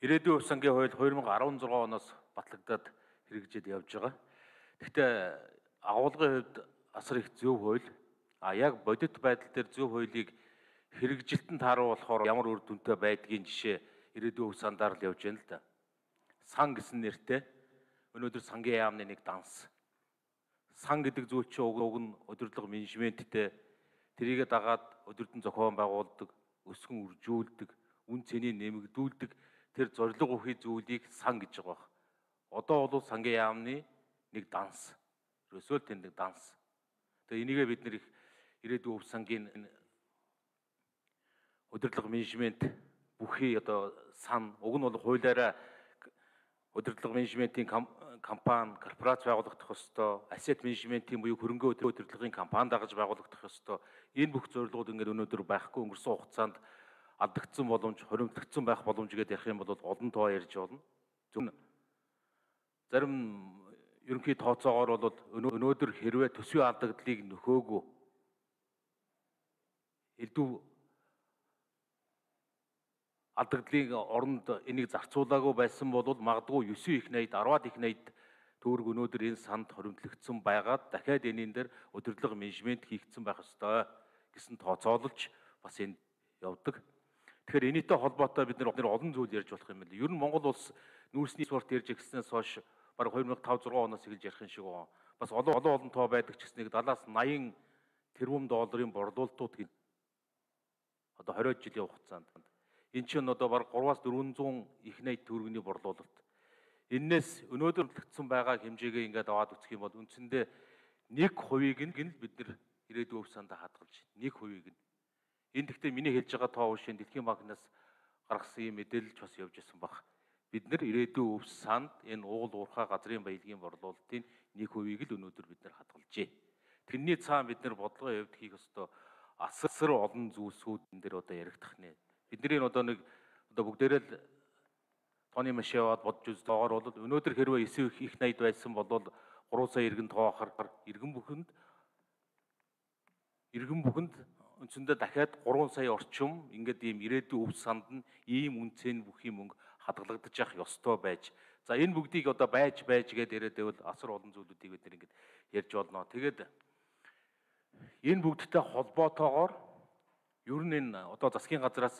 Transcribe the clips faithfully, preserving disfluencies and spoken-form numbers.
Ирээдүйн хувь сангийн хууль two thousand sixteen оноос батлагдаад хэрэгжиж явж байгаа. Гэхдээ агуулгын хувьд асар их зөв хууль. А яг бодит байдал дээр зөв хуулийг хэрэгжилтэн тааруулахаар ямар үр дүнтэй байдгийн жишээ ирээдүйн хувь сандаар л явж байна л да. Сан гэсэн нэртэй өнөөдөр сангийн яамны нэг данс. Сан гэдэг зүйл чинь уг уг нь удирдлага менежменттэй тэрийгэ дагаад удирдан зохион байгуулдаг, өсгөн үржүүлдэг, үн цэнийг нэмэгдүүлдэг тэр зорилго ухий зүйлийг сан гэж байгаа. Одоо бол сангийн яамны нэг данс. Ерөөсөө л тэнд нэг данс. Тэгээ энийгээ бид нэр их ирээдүйн хувь сангийн удирдлага менежмент бүхий одоо сан уг нь бол хуулиараа удирдлага менежментийн компани, корпорац байгуулагдах ёстой, asset менежментийн буюу хөрөнгө удирдлагын компани дагаж байгуулагдах ёстой. Энэ бүх зорилгууд ингээд өнөөдөр байхгүй өнгөрсөн хугацаанд алдагдсан боломж, хоримтлагдсан байх боломж гэдээ ярих юм бол олон тоо ярьж болно. Зөв зарим ерөнхий тооцоогоор бол өнөөдөр хэрвээ төсвийн алдагдлыг нөхөөгүй элдв алдагдлын оронд энийг зарцуулаагүй байсан бол магадгүй nine их найд ten их найд төгрөг өнөөдөр энэ санд хоримтлагдсан байгаад дахиад энийн дээр удирдлага менежмент хийгдсэн байх ёстой гэсэн тооцоолж бас энэ явдаг. Тэгэхээр энэтэй холбоотой бид нэр олон зүйл ярьж болох юм байна. Ер нь Монгол улс нүүрсний спорт ярьж гиснээс хойш баг two thousand five six оноос эхэлж ярих юм шиг байна. Бас олон олон олон тоо байдаг ч гэсэн нэг seventy eighty тэрбум долларын борлуулалтууд хийн. Одоо twenty жилийн хугацаанд. Энэ чинь одоо баг three four hundred их найд төгрөгийн борлуулалт. Эннээс өнөөдөр төлөгдсөн байгаа хэмжээгээ ингээд аваад үзэх юм бол үндсэндээ one percent нь бид нэр ирээдүйн өв сандаа хадгалж one percent нь. Энэ гэхдээ миний хэлж байгаа тоо үшийн Дэлхийн банкнаас гаргасан юм мэдээлэлч бас явж исэн баг. Бид нэр ирээдүйн өв санд энэ уул уурхай газрын баялагын борлуулалтын one percent-ийг л өнөөдөр бид нэр хадгалжээ. Тэрний цаана бид нэр бодлогын хувьд хийх ёстой асар олон зүйлсүүд энэ дэр одоо яригдах нэ. Бидний одоо нэг одоо бүгдээрээ л тооны маш яваад бодж үз тоогоор бол өнөөдөр хэрвээ nine их найд байсан бол three сая иргэн тоохоор иргэн бүхэнд иргэн бүхэнд үндсэндээ дахиад three сая орчим ингээд ийм ирээдүйн өв санд нь ийм үнцэн бүхий мөнгө хадгалагдаж явах ёстой байж. За энэ бүгдийг одоо байж байж гэдээ яриад байвал асар олон зүйлүүдийг бид ингээд ярьж болно. Тэгээд энэ бүгдтэй холбоотойгоор ер нь энэ одоо засгийн газраас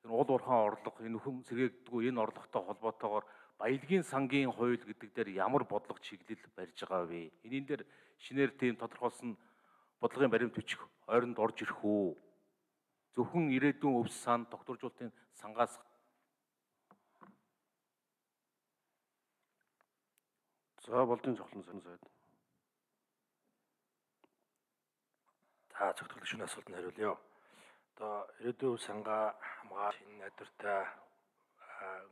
уул уурхайн орлого энэ хүн сэргээгддэггүй энэ орлоготой холбоотойгоор баялагын сангийн хууль гэдэг дээр ямар бодлого чиглэл барьж байгаа вэ? Энийн дээр шинээр тийм тодорхойлсон бодлогын баримт бичих ойронд орж ирэх үү? Зөвхөн ирээдүйн өв сан тогтворжуулалтын сангаас за болдын цохлон сан сайд. За зөвхөн шөнө асуултанд хариулъя. Одоо ирээдүйн сангаа хамгаалах энэ найдвартай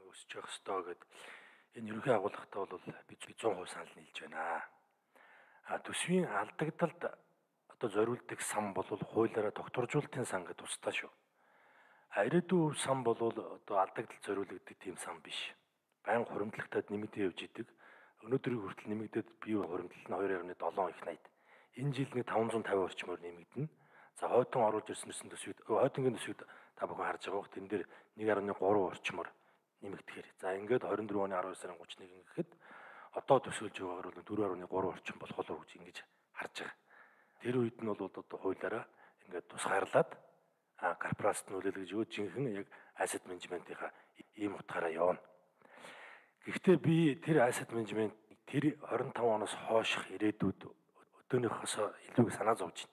өсөж явах ёстой гэдэг энэ ерөнхий агуулгатай бол бид one hundred percent санал нийлж байна. А төсвийн алдагдалд одоо зориулдаг сан бол хуулиараа тогтворжуулалтын сан гэдэг тусдаа шүү. А ирээдүйн сан бол одоо алдагдал зориулагддаг тийм сан биш. Баян хуримтлагтад нэмэгдээ явж идэг. Өнөөдрийг хүртэл нэмэгдээд бие хуримтлал нь two point seven их найд. Энэ жил нэг five hundred fifty орчмоор нэмэгдэнэ. За хойдон оруулж ирсэн төсвүүд хойдонгийн төсвүүд та бүхэн харж байгаа бох тэн дээр one point three орчмоор нэмэгдэхээр. За ингээд twenty-four оны twelve сарын thirty-one гэхэд одоо төсөөлж байгаагаар бол four point three орчим болох болов гэж ингэж харж байгаа. Тэр үед нь бол одоо хуулиараа ингээд тусгаарлаад а корпорацт нөлөөлөх гэж юу жинхэнэ яг asset management-ийнхаа ийм утгаараа явна. Гэхдээ би тэр asset management тэр twenty-five оноос хойших ирээдүйд өдөөнийхөөс илүү санаа зовж байна.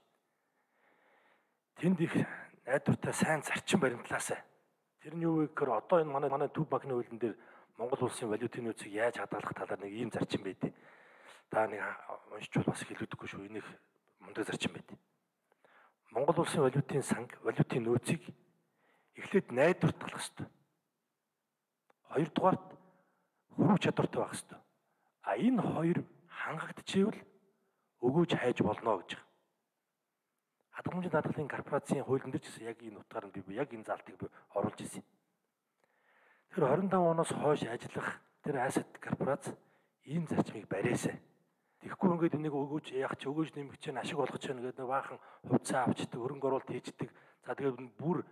Тэнд их найдвартай сайн зарчим баримтлаасаа. Тэр нь юу вэ гэхээр одоо энэ манай манай төв банкны хуулийн дээр Монгол улсын валютын нөөцийг яаж хадгалах талаар нэг ийм зарчим байдیں۔ Та нэг уншиж бол бас хэлүүлдэггүй шүү. Энэ их мундаг зарчим байдیں۔ Монгол улсын валютын санг, валютын нөөцийг эхлээд найдвартгах хэрэгтэй. Хоёрдугаарт хөрөг чадвартай байх хэрэгтэй. А энэ хоёр хангагдчихвэл өгөөж хайж болно гэж. Хадгаламжийн даатгалын корпорацийн хуулийн дээр ч гэсэн яг энэ утгаар нь би яг энэ залтыг би оруулж ирсэн. Тэр twenty-five оноос хойш ажиллах тэр asset корпорац ийм зарчмыг барьяасаа. Тэгэхгүй ингээд энийг өгөөж яах ч өгөөж нэмэх чинь ашиг болгож чана гэдэг баахан хувьцаа авчдаг, хөрөнгө оруулалт хийждэг. За тэгээд бүр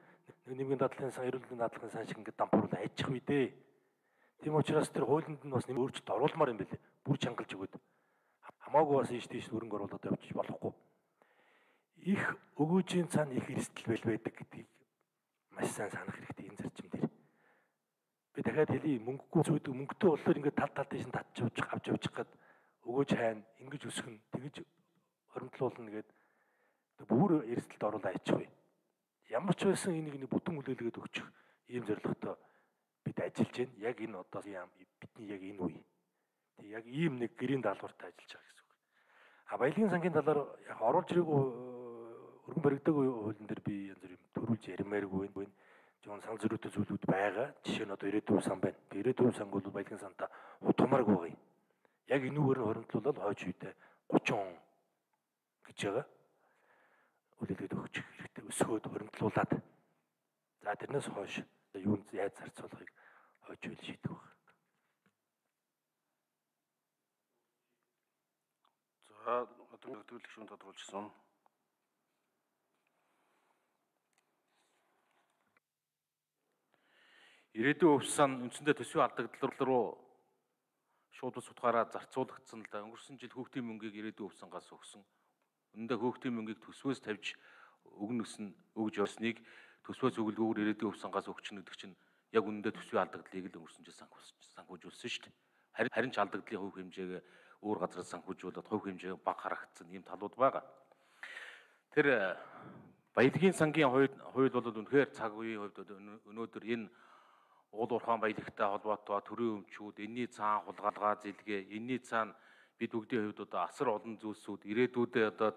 нэмгийн даатгалын сан, эрүүл мэндийн даатгалын сан шиг ингээд дампууруулаад ажих үедээ Тийм учраас тэр хуулинд нь бас нэм өөрчлөлт оруулмаар юм билээ. Бүр чангалж өгöd. Хамаагүй бас ийш тийш хөрөнгө оруулаад явчих болохгүй. Их өгөөжийн цаана их эрсдэл бэл байдаг гэдгийг маш сайн санах хэрэгтэй энэ зарчим дээр. Би дахиад хэлье, мөнгөгүй зүйдэг мөнгөтэй болохоор ингээд тал тал тийш татчих авч авч явчих гээд өгөөж хайна, ингэж өсгөн, тэгэж хоримтлуулна гээд бүр эрсдэлд оруулаа ичгүй. Ямар ч байсан энийг нэг бүтэн хүлээлгээд өгчих ийм зорилготой бид ажиллаж байна. Яг энэ одоо бидний яг энэ үе. Тэг яг ийм нэг гэрийн даалгавартай ажиллаж байгаа гэсэн үг. А баялагын сангийн талаар яг оруулж ирээгүй өргөн баригдаг хуулийн дээр би янз бүр юм төрүүлж ярмааргүй байна. Жон санал зөрүүтэй зүйлүүд байгаа. Жишээ нь одоо ирээдүйн сан байна. Ирээдүйн сан бол баялагын сантаа утгамааргүй байгаа юм. Яг энүүгээр нь хоримтлуулаад хойч үедээ гучин он гэж байгаа. Үлээлгээд өгч хэрэгтэй өсгөөд хоримтлуулаад. За тэрнээс хойш юунд яаж зарцуулахыг хойч үйл шийдэх баг. За одоо нөхдөрлөх шүүнд тодруулжсэн. Ирээдүйн өв сан үндсэндээ төсвийн алдагдал руу шууд ус утгаараа зарцуулагдсан л да. Өнгөрсөн жил хүүхдийн мөнгийг ирээдүйн өв сангаас өгсөн. Үүндээ хүүхдийн мөнгийг төсвөөс тавьж өгнө гэсэн өгж явсныг төсвөөс өгөлгөөр ирээдүйн өв сангаас өгчнө гэдэг чинь яг үнэндээ төсвийн алдагдлыг л өнгөрсөн жил санхүүжүүлсэн шүү дээ. Харин харин ч алдагдлын хувь хэмжээг өөр газраас санхүүжүүлээд хувь хэмжээг бага харагдсан ийм талууд байгаа. Тэр баялагын сангийн хууль бол үнэхээр цаг үеийн хувьд өнөөдөр энэ уул уурхайн баялагтай холбоотой төрийн өмчүүд, энэний цаана хулгайлгаа зэлгээ, энэний цаана бид бүгдийн хувьд одоо асар олон зүйлсүүд ирээдүйдээ одоо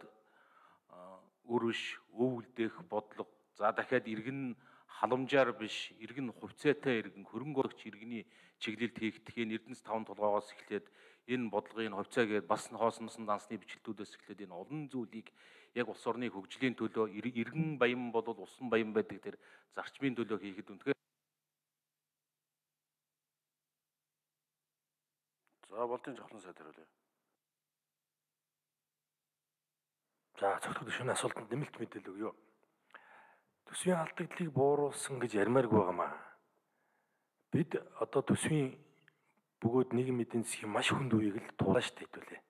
өрөш, өвөлдөх бодлого, за дахиад иргэн халамжаар биш, иргэн хувьцаатай иргэн, хөрөнгө оруулагч иргэний чиглэлд хийгдэх энэ Эрдэнэс таван толгоогоос эхлээд энэ бодлогын хувьцаа гээд бас хоосносон дансны бичлэлтүүдээс эхлээд энэ олон зүйлийг яг улс орны хөгжлийн төлөө иргэн баян бол усан баян байдаг тэр зарчмын төлөө хийхэд үнэхээр. За болдын жавхлан сайд хариулъя. За цогцол гишүүний асуултанд нэмэлт мэдээлэл өгье. Төсвийн алдагдлыг бууруулсан гэж ярмааргүй байгаамаа. Бид одоо төсвийн бөгөөд нийгмийн эдийн засгийн маш хүнд үеийг л туулаа штэ хэдүүлээ.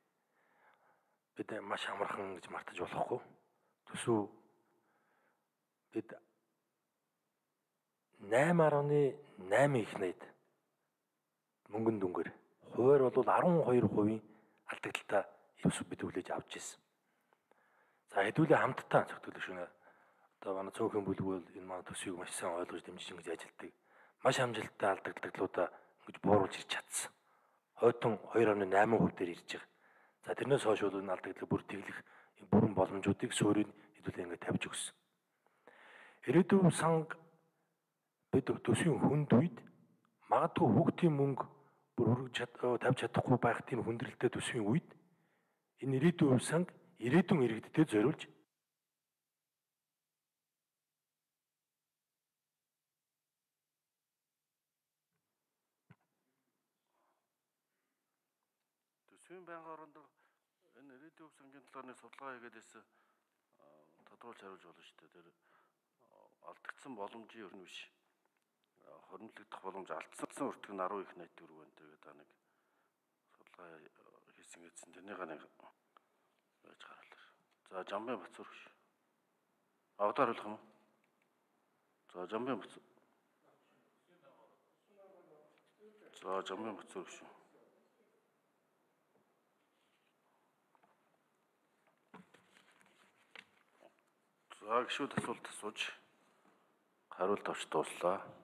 Бид маш амархан гэж мартаж болохгүй. Төсөв бид найман гаруй найман их найд мөнгөн дүнгээр хуваар бол арван хоёр хувийн алдагдaltaа төсөв бид хүлээж авч ирсэн. За хэдүүлээ хамтдаа цогцол гишүүнээ одоо манай цөөхөн бүлгүүл энэ манай төсвийг маш сайн ойлгож дэмжиж ингэж ажилладаг. Маш амжилттай алдагдлуудаа ингэж бууруулж ирч чадсан. Хойтон хоёр хамт найман хувь дээр ирж байгаа. За тэрнээс хойш бол энэ алдагдлыг бүр тэглэх бүрэн боломжуудыг суурийг хэдүүлээ ингэ тавьж өгсөн. Ирээдүйн санг бид төсвийн хүнд үед магадгүй хүүхдийн мөнгө бүр хүргэж тавьж чадахгүй байх тийм хүндрэлтэй төсвийн үед энэ ирээдүйн санг ирээдүйн иргэдтэй зориулж төсвийн байнгын орондоо энэ ирээдүйн өв сангийн талаар нэг судалгаа хийгээдээс тодруулж хариулж болно шүү дээ. Тэр алдагдсан боломжийн өрн биш. Хоримтлогдох боломж алдсан өртөг нь арван их найт төгрөг байна. Тэгээд та нэг судалгаа хийсэн гэсэн тэрнийг нэг байж гаргалаа. За Жамбын Бацуур биш. Авдар хариулах юм уу? За Жамбын Бацуур. За Жамбын Бацуур биш. За гişүүд асуулт асууж хариулт авч дууслаа.